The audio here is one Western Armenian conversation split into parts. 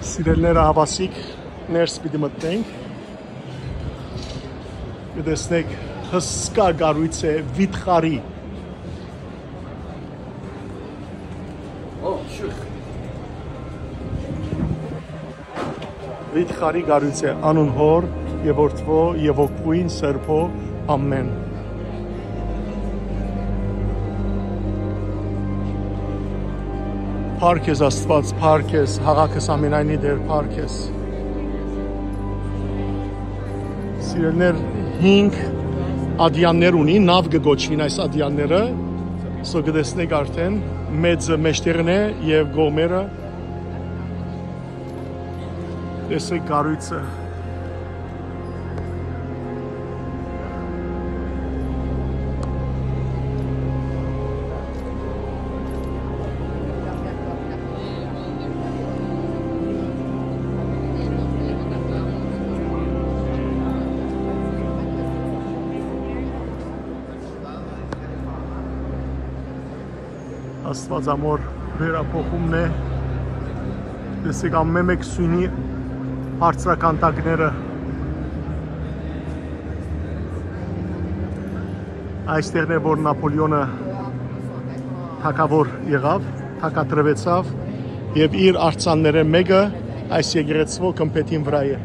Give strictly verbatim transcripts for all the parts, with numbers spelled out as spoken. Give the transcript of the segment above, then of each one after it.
Սիրելիները, հաւասիկ ներս պիտի մտնենք։ Կը տեսնեք, հսկայ կառոյց է, վիթխարի։ Վիթխարի կառոյց է, անուն Հօր եւ Որդւոյ եւ Հոգւոյն Սրբոյ, ամէն։ Փառք ես, Աստուած, փառք ես, հաղակս ամենայնի Տէր, փառք ես։ Սիրելիներ, հինգ ատեաններ ունի, նաւ կը կոչուին այս ատեանները, սո կը տեսնեք արդէն, մեծը մէջտեղն է եւ կողմերը, տեսեք կառոյցը։ Աստուածամոր վերափոխումն է։ Տեսեք, ամէն մէկ սոյնի բարձրականդակները։ Այստեղն է, որ Նապոլեոնը թագաւոր եղաւ, թագադրուեցաւ եւ իր արձաններէն մէկը այս եկեղեցւոյ գմբէթին վրայ է։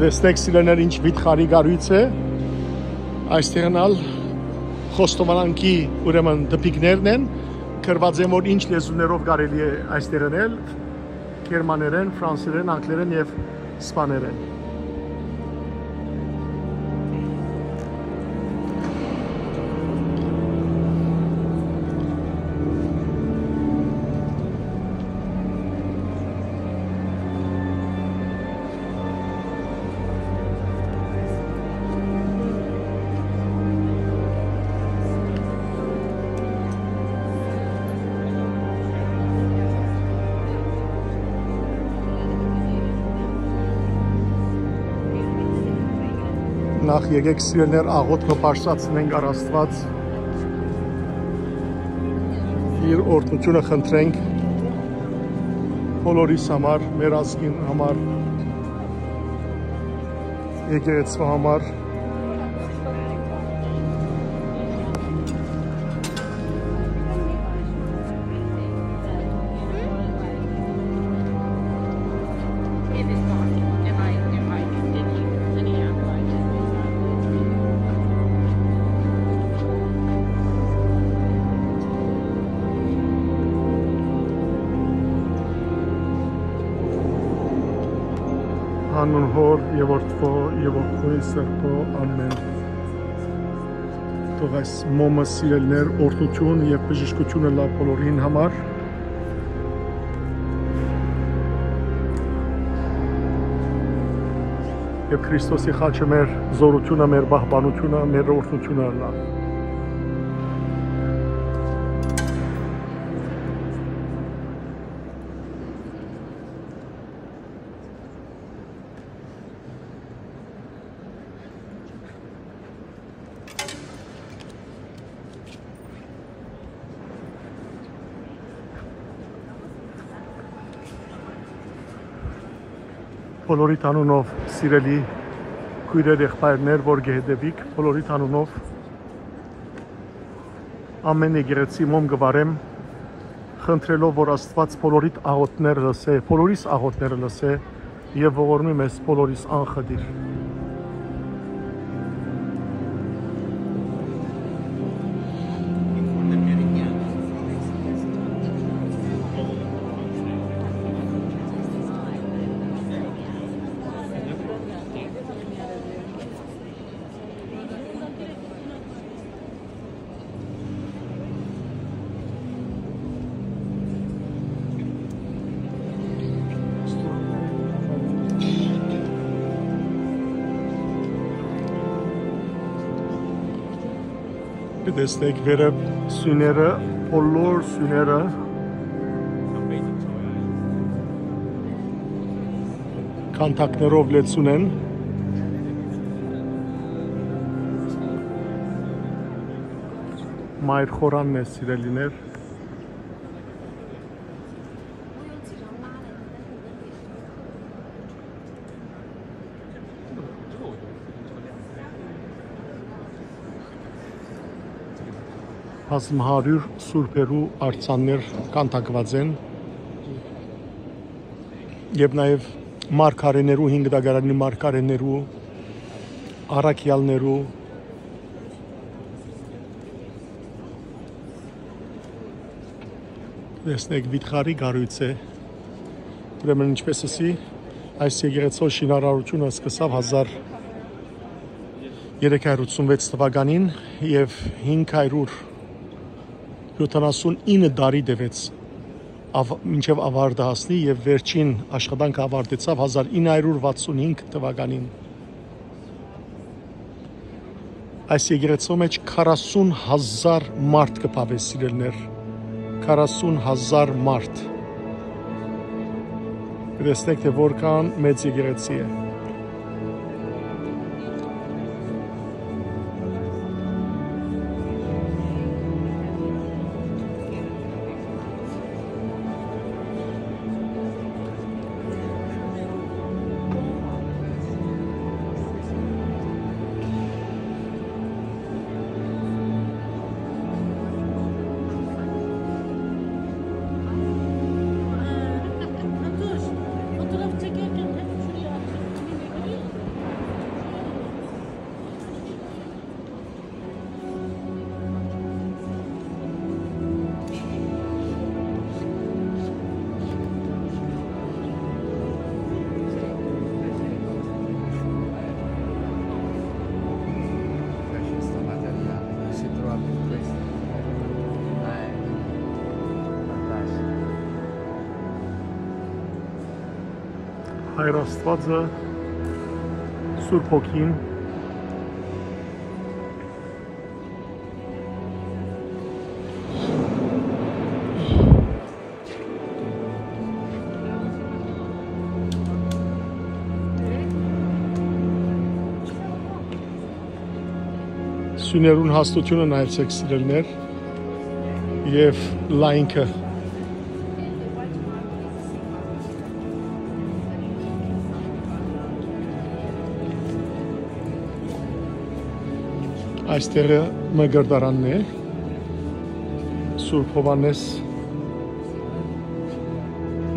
Տեսնեք, սիրելիներ, ինչ վիթխարի կառոյց է։ Այստեղն ալ խոստովանանքի, ուրեմն, տպիկներն են, գրուած են, որ ինչ լեզուներով կարելի է այստեղ ընել, գերմաներէն, ֆրանսերէն, անգլերէն եւ սպաներէն։ Նախ եկեք, սիրելիներ, աղօթքը բարձրացնենք առ Աստուած, իր օրհնութիւնը խնդրենք բոլորիս համար, մեր ազգին համար, եկեղեցւոյ համար։ Անուն Հօր եւ Որդւոյ եւ Հոգւոյն Սրբոյ, ամէն։ Թող այս մոմը, սիրելիներ, օրհնութիւն եւ բժշկութիւն ըլլայ բոլորին համար։ Եւ Քրիստոսի խաչը մեր զօրութիւնը, մեր պահպանութիւնը, մեր օրհնութիւնը ըլլայ։ Բոլորիդ անունով, սիրելի քոյրեր, եղբայրներ, որ կը հետևիք, բոլորիդ անունով ամէն եկեղեցի մոմ կը վառեմ, խնդրելով, որ Աստուած բոլորիդ աղօթքները լսէ, բոլորիս աղօթքները լսէ եւ ողորմի մեզ բոլորիս անխտիր։ Տեսնեք վերը սյուները, բոլոր սյուները քանդակներով լեցուն են։ Մայր խորանն է, սիրելիներ։ Բազմահարիւր սուրբերու արձաններ քանդակուած են եւ նաեւ մարգարեներու, հինգ տակարանին մարգարեներու, առաքեալներու, տեսնեք, վիթխարի կառոյց է։ Ուրեմն, ինչպես ըսի, այս եկեղեցու շինարարութիւնը սկսաւ հազար երեք հարիւր ութսունվեց թուականին եւ հինգ հարիւր յոթանասունինը տարի տեւեց, ավ-, մինչեւ աւարտը հասնի, եւ վերջին աշխատանքը աւարտեցաւ հազար ինը հարիւր վաթսունհինգ թուականին։ Այս եկեղեցու մէջ քառասուն հազար մարդ կը բաւէ, սիրելիներ։ Քառասուն հազար մարդ։ Կը տեսնէք, թէ որքան մեծ եկեղեցի է։ Հայր Աստուածը, Սուրբ Հոգին, Սիւներուն հաստութիւնը նայեցէք, սիրելիներ, եւ լայնքը։ Այստեղը մկրտարանն է, Սուրբ Յովհաննէս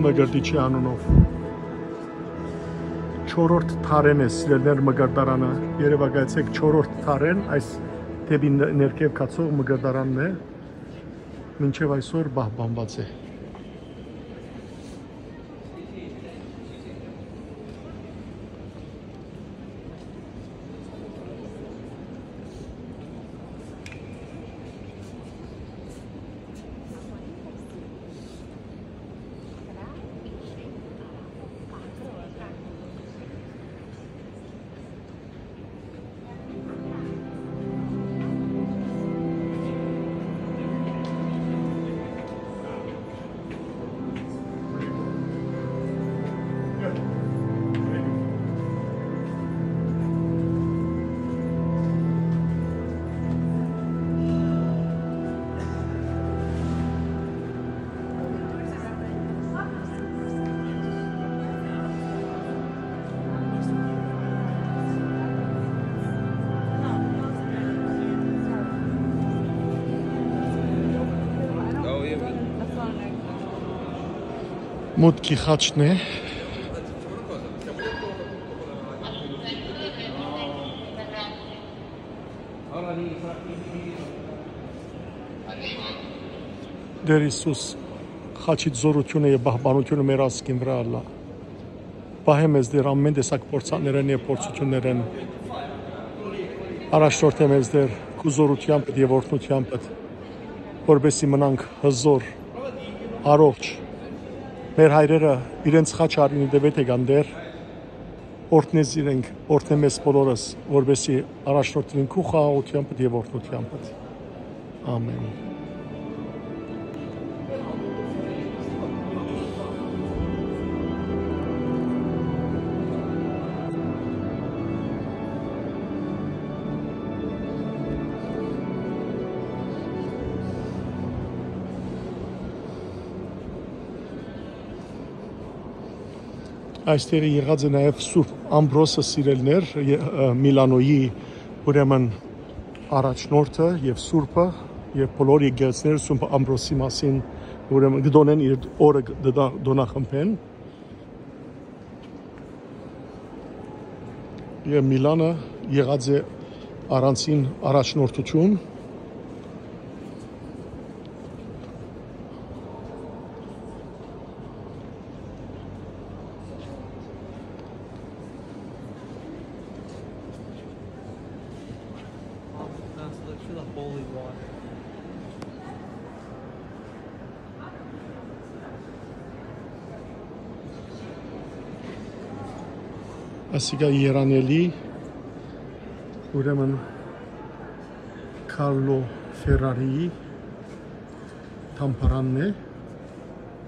Մկրտիչի անունով։ Չորրորդ դարէն է, սիրելիներ, մկրտարանը։ Երեւակայեցէք, չորրորդ դարէն այս դէպի ն-, ներքեւ գացող մկրտարանն է, մինչեւ այսօր պահպանուած է։ Մուտքի խաչն է։ Տէր Յիսուս, խաչիդ զօրութիւնը եւ պահպանութիւնը մեր ազգին վրայ ըլլայ։ Պահէ մեզ Տէր ամէն տեսակ փորձաններէն եւ փորձութիւններէն։ Առաջնորդէ մեզ Տէր քու զօրութեամբդ եւ օրհնութեամբդ, որպեսզի մնանք հզօր, առողջ։ Մեր հայրերը իրենց խաչը արին դեւեթ եկան Տէր, օրհնե զիրենք, օրհնե մեզ բոլորս, որպեսզի առաջնորդին քու խաղաղութեամբդ եւ օրհնութեամբդ։ Ամեն։ Այստեղ եղած է նաև Սուրբ Ամբրոսը, սիրելիներ, ե-, ը, Միլանոյի, ուրեմն, առաջնորդը եւ Սուրբը, եւ բոլոր եկեղեցիները Սուրբ Ամբրոսի մասին, ուրեմն, կը տոնեն, իր օրը կը տա-, տօնախմբեն։ Եւ Միլանը եղած է առանձին առաջնորդութիւն։ Ասիկա երանելի, ուրեմն, Քարլո Ֆերարիի թամբարանն է։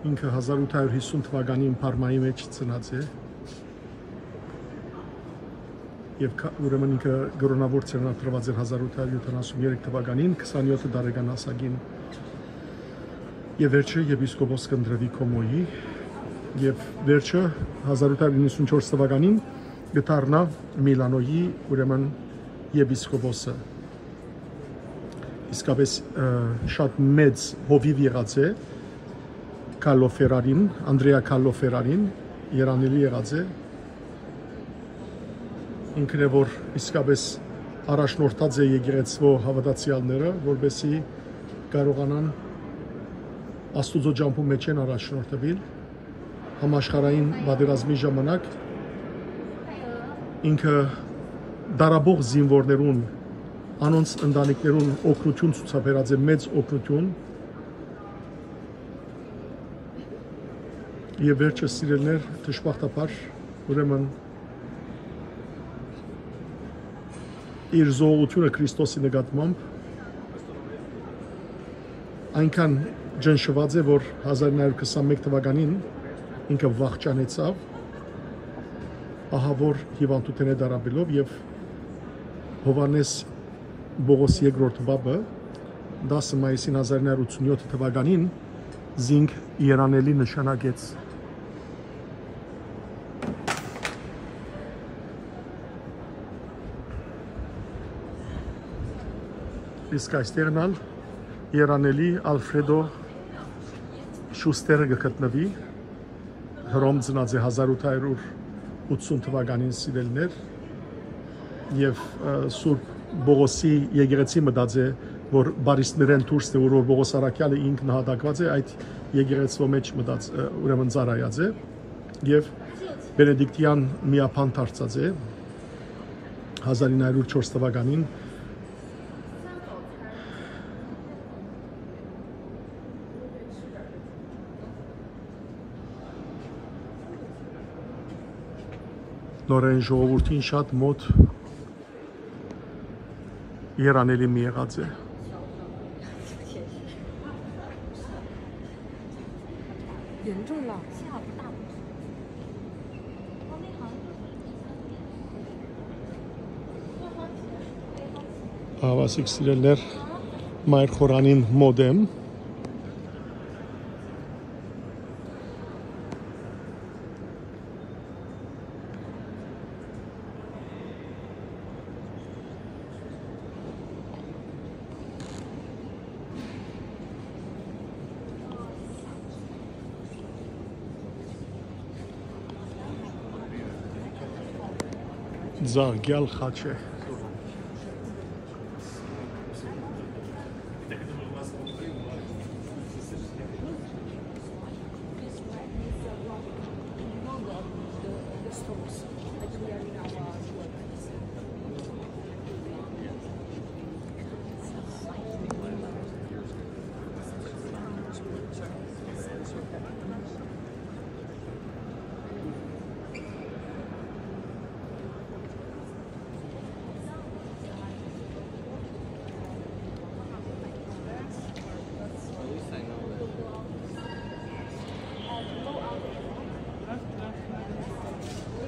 Ինքը հազար ութ հարյուր հիսուն թվականին Փարմայի մէջ ծնած է։ Եւ քա-, ուրեմն ինքը կրօնաւոր ծերունատրուած էր հազար ութ հարյուր յոթանասուն երեք թվականին, քսանյոթ տարեկան հասակին։ Եւ վերջը եպիսկոպոս կ'ընտրուի Կոմոյի, եւ վերջը հազար ութ հարյուր իննսունչորս թվականին կը դառնայ Միլանոյի, ուրեմն, եպիսկոպոսը։ Իսկապէս, ը, շատ մեծ հովիւ եղած է Քալլո Ֆերարին, Անդրեա Քալլո Ֆերարին, երանելի եղած է։ Ինքն է, որ իսկապէս առաջնորդած է եկեղեցւոյ հաւատացեալները, որպեսզի կարողանան Աստուծոյ ճամբու մէջէն առաջնորդուիլ։ Համաշխարհային պատերազմի ժամանակ ինքը դարաբող զինուորներուն, անոնց ընտանիքներուն օգնութիւն ցուցաբերած է, մեծ օգնութիւն։ Եւ վերջը, սիրելիներ, դժբախտաբար, ուրեմն, իր զոհողութիւնը Քրիստոսի նկատմամբ այնքան ճնշուած է, որ հազար նոյ հարյուր քսանմեկ թվականին ինքը վախճանեցաւ, ահա որ հիւանդութենէ տառապելով, եւ Յովհաննէս Պողոս երկրորդ պապը տասը մայիսին հազար նոյ հարյուր ութսունյոթ թվականին զինք երանելի նշանակեց։ Իսկ այստեղն ալ երանելի Ալֆրեդո Շուստերը կը գտնուի, Հռոմ ծնած է հազար ութ հարյուր ութսուն թվականին, սիրելիներ, եւ, ը, Սուրբ Պողոսի եկեղեցի մտած է, որ Բարիսներէն դուրս է, որ, որ Պողոս Առաքեալը ինք նահատակված է, այդ եկեղեցւոյ մէջ մտած, ը, ուրեմն ծառայած է, եւ Բենեդիկտեան միաբան դարձած է հազար ինը հարյուր չորս թվականին։ Նորէն ժողովուրդին շատ մոտ երանելի մը եղած է։ Ահա, սիրելիներ, Մայր Խորանին մօտ եմ։ Զաղկեալ խաչ է։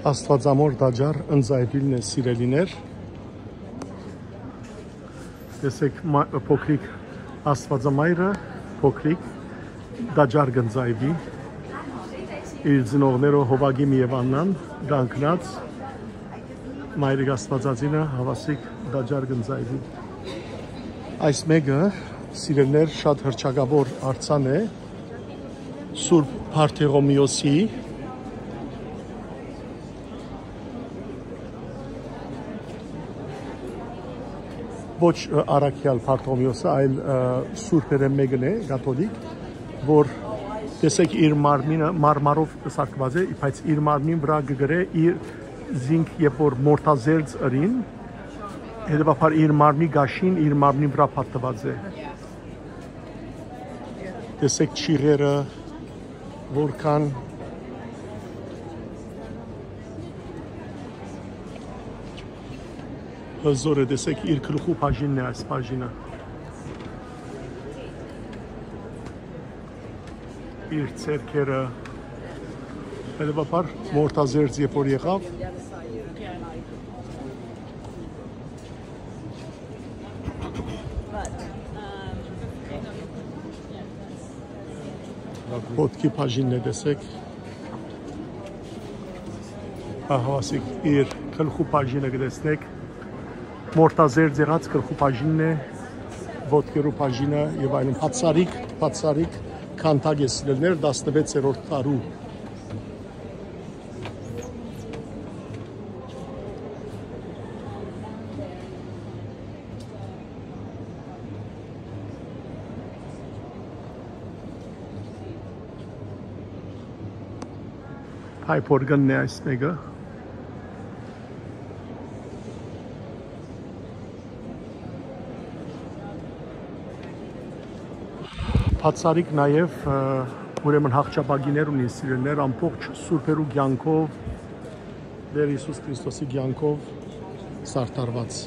Աստուածամոր տաճար ընծայուիլն է, սիրելիներ։ Տեսեք, մա-, փոքրիկ Աստուածամայրը, փոքրիկ տաճար կ'ընծայուի։ Իր ծնողներով Հովակիմ եւ Աննան կանգնած, Մայրիկ Աստուածածինը հաւասիկ տաճար կ'ընծայուի։ Այս մէկը, սիրելիներ, շատ հռչակաւոր արձան է Սուրբ Բարթեղոմէոսի, ոչ, ը, առաքեալ Բարթողմէոսը, այլ, ը, սուրբերէն մէկն է, կաթոլիկ, որ, տեսեք, իր մարմինը մարմարով սարքուած է, բայց իր մարմնին վրայ կը գրէ իր զինք, երբ որ մորթազերծ ըրին, հետեւաբար իր մարմնի գաշին իր մարմնին վրայ փաթթուած է։ Տեսեք չիղերը, որքան հզոր է, տեսեք, իր գլխու բաժինն է այս բաժինը։ Իր ձեռքերը, հետեւաբար, մորթազերծ երբ որ եղաւ, ոտքի բաժինն է, տեսեք։ Ահա, ասիկ, իր գլխու բաժինը կը տեսնեք։ Մորթազերծ եղած գլխու բաժինն է, ոտքերու բաժինը եւ այլն։ Բացարիկ, բացարիկ քանդակ է սիրելիներ, տասնվեցերորդ դարու։ Հայ փորկնն է այս մէկը։ Բացարիկ նաեւ, ը, ուրեմն հաղթապակիներ ունի սիրելիներ, ամբողջ սուրբերու կեանքով, Տեր Յիսուս Քրիստոսի կեանքով սարդարուած։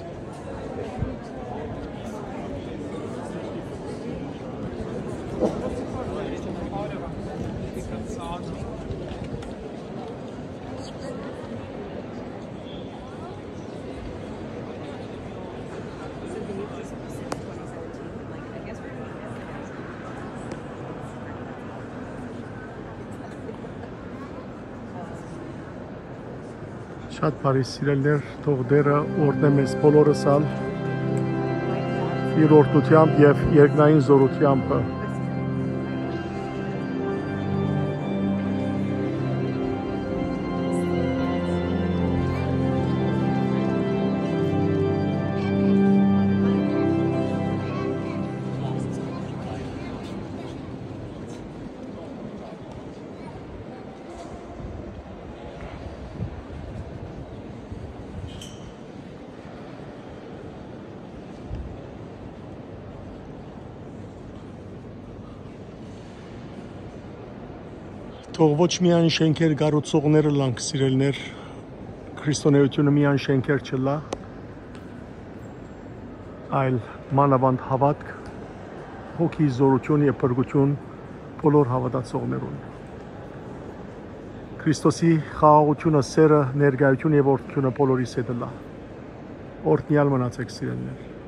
Շատ բարի, սիրելիներ, թող Տերը օրհնէ մեզ բոլորս ալ իր օրհնութեամբ եւ երկնային զօրութեամբը։ Թող ոչ միայն շէնքեր կառուցողները ըլլանք, սիրելիներ, քրիստոնէութիւնը միայն շէնքեր չըլլայ, այլ մանաւանդ հաւատք, հոգի զօրութիւն եւ փրկութիւն բոլոր հաւատացողներուն։ Քրիստոսի խաղաղութիւնը, սէրը, ներկայութիւնը եւ օրհնութիւնը բոլորիս հետ ըլլայ։ Օրհնեալ մնացէք, սիրելիներ։